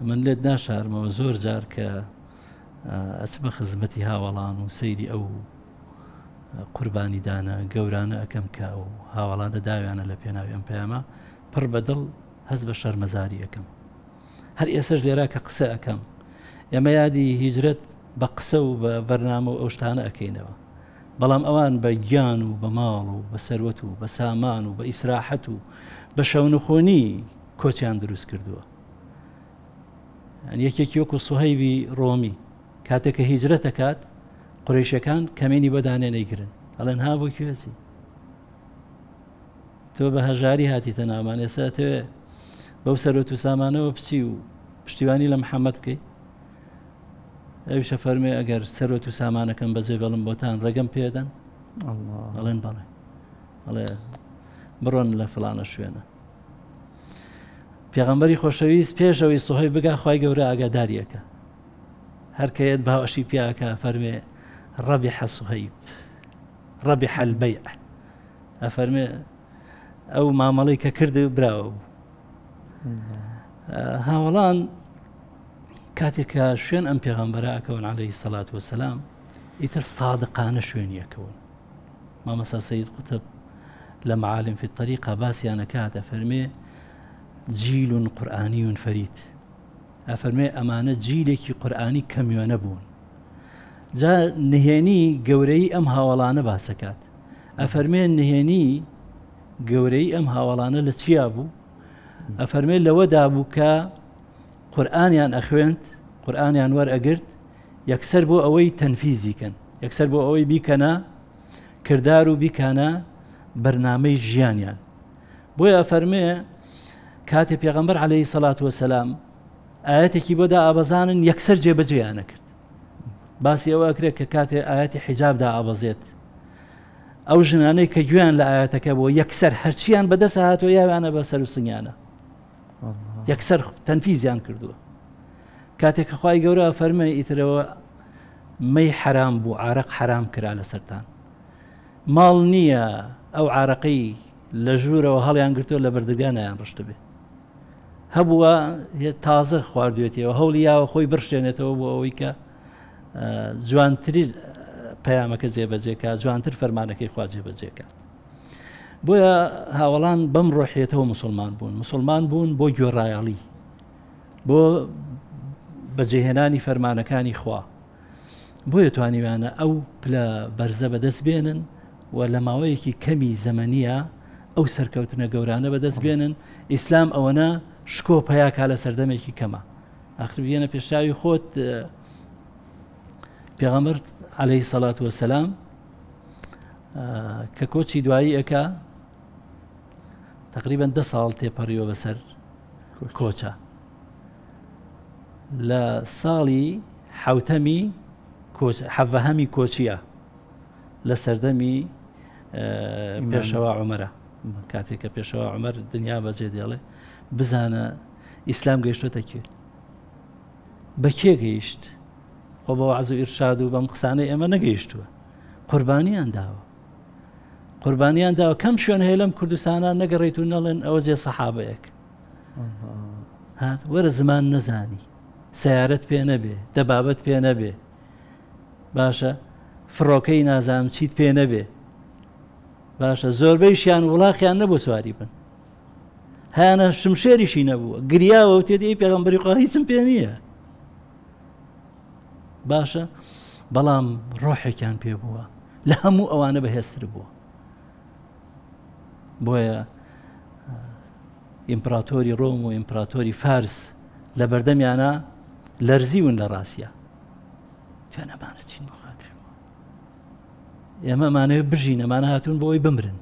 من لێت ناشارمەوە زۆر جار کە ئەچمە خزمەتی هاوەڵان و سەیری ئەو قوربانیدانە گەورانە ئەکەم کە ئەو هاوەڵانە داویانە لە پێناوی ئەم پەیامە، پڕ بە دڵ هەست بە شەرمەزاری ئەکەم. هەر ئێسەش لێرا کە قسە ئەکەم، ئێمە یادی هیجرەت بە قسە و بە بەرنامە و ئەو شتانە ئەکەینەوە، بەڵام ئەوان بە گیان و بە ماڵ و بە سەروەت و بە سامان و بە ئیسراحەت و بە شەونخۆنی کۆچیان دروست کردووە. یەکێکی وەکو سوهەیبی ڕۆمی کاتێک کە هیجرەت ئەکات قورەیشەکان کەمینی بۆ دانێ نەیگرن، ئەڵێن ها بۆ کوێ چی؟ تۆ بە هەژاری هاتیتە ناومان، ئێستا ئەتەوێ بەو سەرۆت و سامانەوە بچی و پشتیوانی لە محەممەد بکەی؟ ئەویشە فەرمێ ئەگەر سەرۆت و سامانەکەم بەجێ بێڵم بۆتان ڕێگەم پێدەن؟ ئەڵێن بەڵێ. ئەڵێ بڕۆن لە فڵانە شوێنە. پێغەمبەری خۆشەویست پێش ئەوەی سوهەیب بگا خوای گەورە ئاگاداریەکە هەر کە یەت باوەشی پیاکە فەرمێ ڕەبیح سوهەیب ڕەبیح البەیع ئەفەرمێ ئەو مامەڵەی کە کرد براوە بوو. هاوەڵان کاتێک کە شوێن ئەم پێغەمبەرە ئەکەون عەلەیهی سەلات وەسەلام ئیتر سادقانە شوێنیەکەون. مامۆستا سەید قوتب لە معالم فی الطریقە باسیان ئەکات ئەفەرمێ جیل قورئانی فەرید، ئەفەرمێ ئەمانە جیلێکی قورئانی کەمیۆنە بوون. جا نهێنی گەورەی ئەم هاوەڵانە باسەکات، ئەفەرمێ نهێنی گەورەی ئەم هاوەڵانە لە چیا بوو؟ ئەفەرمێ لەوەدا بوو کە قورئانیان ئەخوێند، قورئانیان وەرئەگرت، یەکسەر بۆ ئەوەی تەنفیزی کەن، یەکسەر بۆ ئەوەی بیکەنە کردار و بیکانە بەرنامەی ژیانیان. بۆیە ئەفەرمێ کاتێ پێغەمبەر عەلەیهی سەڵات وەسەلام ئایەتێکی بۆ دائابەزانن یەکسەر جێبەجێیانە کرد. باسی ئەوە ئەکرێت کە کاتێ ئایەتی حیجاب دائابەزێت ئەو ژنانەی کە گوێیان لە ئایەتەکە بووە یەکسەر هەرچیان بەدەست هاتووە یاویانە بە سەر و سنگیانە، یەکسەر تەنفیزیان کردووە. کاتێک کە خوای گەورە فەرمێ ئیترەوە مەی حەرام بوو، عارەق حەرام کرا لەسەرتان، ماڵ نییە ئەو عارەقەی لە ژوورەوە هەڵیان گرتووە لە بەردەرگا نایان ڕشتبێ، هەبووە تازە خواردوێتیەوە هەوڵی یاوە خۆی بڕشێنێتەوە بۆ ئەوەی کە جوانترین پەیامەکە جێبەجێکە، جوانتر فەرمانەکەی خوا جێبەجێکات. بۆیە هاوەڵان بەم ڕۆحیەتەوە مسلمان بوون، مسلمان بوون بۆ گوێڕایەڵی، بۆ بەجێهێنانی فەرمانەکانی خوا. بۆیە توانیویانە ئەو پلە بەرزە بەدەست بێنن و لە ماوەیەکی کەمی زەمەنیە ئەو سەرکەوتنە گەورانە بەدەست بێنن. ئیسلام ئەوەنە شکۆ پەیاکا لە سەردەمێکی کەمە. ئاخر بێنە پێشاوی خۆت پێغەمبەر عەلەیهی سەڵات وەسەلام کە کۆچی دوایی ئەکا تقریبا 10 ساڵ تێپەڕیوە بەسەر کۆچە. لە ساڵی حوتەمی حەڤەهەمی کۆچیە لە سەردەمی پێشەوا عمەرە، کاتێک کە پێشەوا عمەر دنیا بەجێ دێڵێ. بزانە ئیسلام گەیشتۆتە کوێ، بە کێ گەیشت؟ خۆ بە وەعز و ئیرشاد و بەم قسانەی ئێمە نەگەیشتووە، قوربانیان داوە، قوربانیان داوە. کەم شوێن هەیە لەم کوردستانە نەگەڕێیت و نەڵێن ئەوە جێ سەحابەیەک هات. وەرە زمان نەزانی، سیارەت پێ نەبێ، دەبابەت پێ نەبێ، باشە فڕۆکەی نازانم چیت پێ نەبێ، باشە زۆربەیشیان وڵاخیان نەبوو سواری بن، هەیانە شمشێریشی نەبووە، گریاوە و تێدی پێغەمبەری خوا هیچم پێ نییە. باشە بەڵام ڕۆحێکیان پێ بووە لە هەموو ئەوانە بەهێزتر بووە. بۆیە ئیمپراتۆری ڕۆم و ئیمپراتۆری فارس لە بەردەمیانە لەرزیون لە ڕاستە. توێنەمانە چین بۆ خاتری ئێمە ئەمانەوێت بژین، ئەمانە هاتوون بۆ ئەوەی بمرن.